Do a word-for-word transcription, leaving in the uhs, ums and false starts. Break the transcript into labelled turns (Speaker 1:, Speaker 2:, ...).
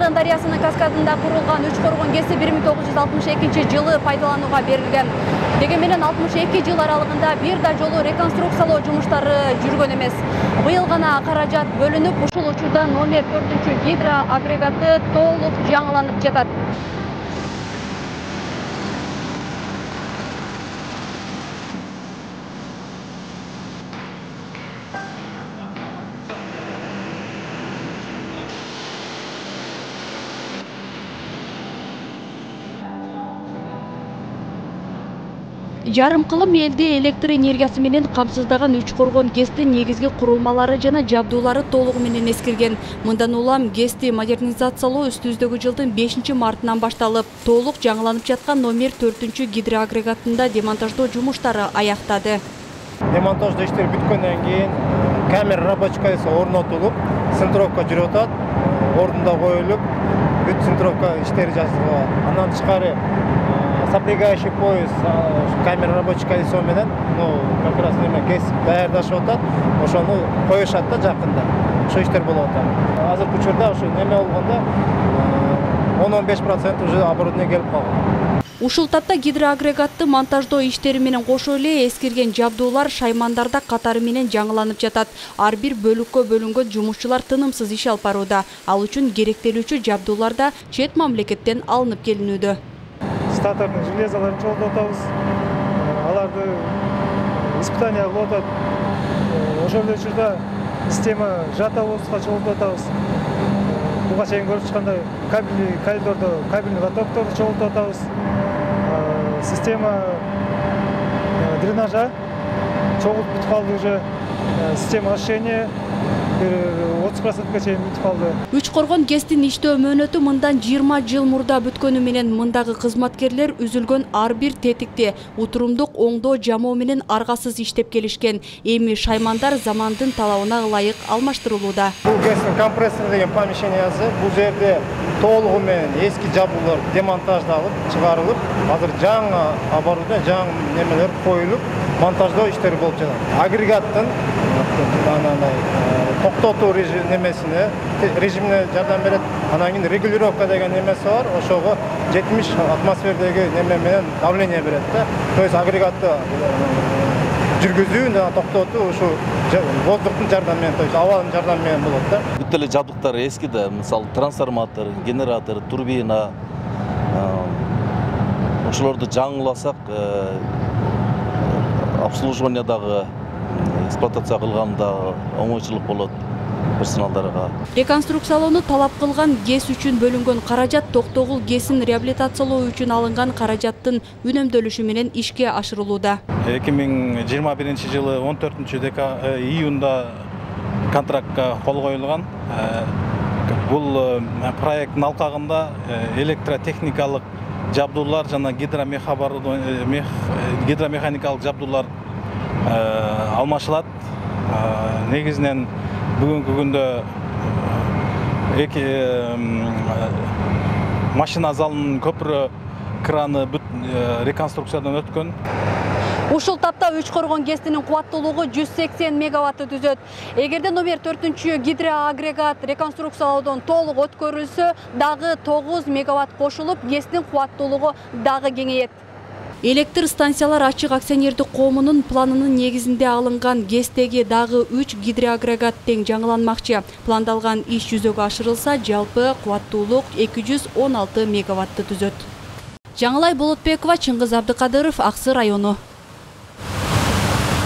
Speaker 1: Чагын дарыясынын каскадында курулган үч коргон ГЭСи бир миң тогуз жүз алтымыш экинчи жылы пайдаланууга берилген. Деги менен алтымыш эки жыл аралыгында бир да жолу реконструкциялоо жумуштары жүргөн эмес. Быйыл гана каражат бөлүнүп, ушул учурда номер төртүнчү гидроагрегаты толук жаңыланып жатат. Жарым кылым элди электр энергиясы менен камсыздаган үч коргон ГЭСтин негизги курулмалары жана жабдуулары толугу менен эскирген. Мындан улам ГЭСти модернизациялоо үстүбүздөгү жылдын бешинчи мартынан башталып, толук жаңыланып жаткан номер төртүнчү гидроагрегатында демонтаждоо жумуштары аяктады.
Speaker 2: Демонтаждоо иштери бүткөндөн кийин камера рабочкасы орнотулуп, центровка жүрүп атат, ордунда коюлуп, бүт центровка иштери жасалат. Андан тышкары сопрягающий пояс камера рабочий колесо менен, ну, как раз неме ГЭС даярдашып атат, ошону коюшат да жакында. Ошо иштер болуп атат. Азыркы учурда ошо неме болгондо он он беш процент уже оборудование келип калган.
Speaker 1: Ушул тапта гидроагрегатты монтаждоо иштери менен кошо эле эскирген жабдуулар шаймандарда катары менен жаңыланып жатат. Ар бир бөлүккө бөлүнгөн жумушчулар тынымсыз иш алып барууда. Ал үчүн керектелүүчү жабдуулар да чет мамлекеттен алынып келинүүдө.
Speaker 3: Статорный железаларын чогултуп атабыз. Аларды испытания кылып атат. Ошол эле учурда система жатабызга чогултуп атабыз. Буга чейин көрүп чыккандай кабельный коридордо кабельный ватокторду чогултуп атабыз. Система дренажа чогултуп бүтүп калды уже. Система освещения отуз процентке чейин бүтүп калды.
Speaker 1: Үч коргон ГЭСтин иштөө мөөнөтү мындан жыйырма жыл мурда бүткөнү менен мындагы кызматкерлер үзүлгөн ар бир тетикти утурумдук оңдоо жамоо менен аргасыз иштеп келишкен. Эми шаймандар замандын талабына ылайык алмаштырылууда.
Speaker 2: Бул ГЭСтин компрессор деген помещениясы, бул жерде толугу менен эски жабдуулар демонтаждалып, чыгарылып, азыр жаңы оборудование, жаңы немелер коюлуп, монтаждоо иштери болуп жатат. Агрегаттын токтотуу немесине, режимине жардам берет. Анан кийин регулировка деген немеси бар. Ошого жетимиш атмосфердеги неме менен давление берет да. То есть агрегатты жүргүзүү жана токтотуу ушу воздухтун жардамы менен, то есть абанын жардамы менен болот да.
Speaker 4: Бүт эле жабдыктар эски да, мисалы трансформатор, генератор, турбина. Ошолорду жаңыласак, обслуживаниедагы эксплуатация кылганда оңойчулук болот персоналдарга.
Speaker 1: Реконструкциялоону талап кылган ГЭС үчүн бөлүнгөн каражат Токтогул ГЭСин реабилитациялоо үчүн алынган каражаттын үнөмдөлүшү менен ишке ашырылууда.
Speaker 5: эки миң жыйырма биринчи жылы он төртүнчү июнда контрактка кол коюлган. Бул проекттин алкагында электротехникалык жабдуулар жана гидромеханикалык жабдуулар алмашылат. Негизинен бүгүнкү күндө эки машина залынын көпүрө краны бүт реконструкциядан өткөн.
Speaker 1: Ушул тапта үч коргон ГЭСтин кубаттуулугу жүз сексен мегаватты түзөт. Эгерде номер төртүнчү гидроагрегат реконструкциялоодон толук өткөрүлсө, дагы тогуз мегаватт кошулуп, ГЭСтин кубаттуулугу дагы кеңейет. Электр станциялар ачык акционердик коомунун планынын негизинде алынган ГЭСтеги дагы үч гидроагрегат тең жаңыланмакчы. Пландалган иш жүзөгө ашырылса, жалпы кубаттуулук эки жүз он алты мегаватты түзөт. Жаңылай Болотбекова, Чыңгыз Абдыкадыров, Аксы району.